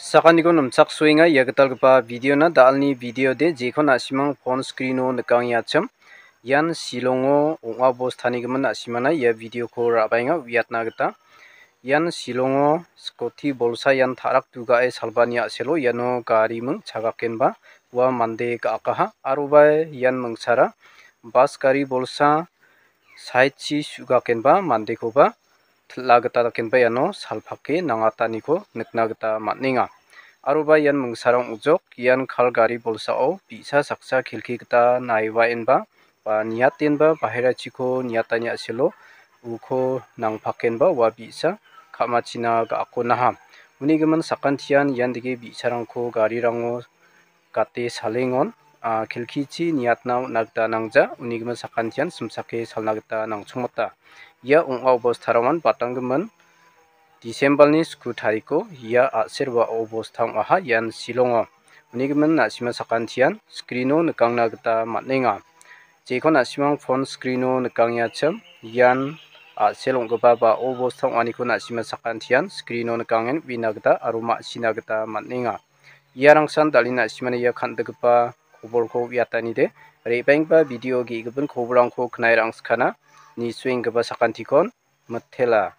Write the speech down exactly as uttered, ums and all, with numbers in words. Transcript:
Sakaniko nimchaksoenga ia gitalgipa videona, da·alni videode jekon na·simang phone screeno nikangenga achim. Ian Shillongo ong·a bostanigimin na·simana ia videoko ra·baenga uiatna gita. Ian Shillongo scooty bolsa ian ta·rak dugae salbani a·selo iano gari ming chagakenba ua mande ga·akaha aroba ian mingsara bas gari bolsa side-chi su·gakenba mandekoba til·a gita dakenba iano salpake nangataniko nikna gita man·enga. Aroba ian mingsara ong·jok, ian kal gari bolsao bi·sa saksa kelki gita naibaenba ba niatenba baherachiko niatani a·selo uko nangpakenba ua bi·sa ka·machina ga·ako naha. Unigimin sakantian ian dike bi·sarangko garirango gate salengon, a, kelkichi niatna on·a gita nangja, unigimin sakantian simsake salna gita nangchongmota. Ia ong·a obostarangan batanggimin December-ni sku tariko ia a·ser ua obosta ong·aha ian Shillongo. Unigimin na·sima sakantian screeno nikangna gita man·enga. Jekon na·simang phone screeno nikangenga achim, ian a·sel ong·gipa ba obosta ong·aniko na·sima sakantian screeno nikangen uina gita aro ma·sina gita man·enga. Iarangsan da·alni na·simani ia kan·dikgipa kobolko uiatanide, re·baenggipa video ge·gipin kobolrangko knae ra·angsikana, nisuenggipa sakantikon mitela.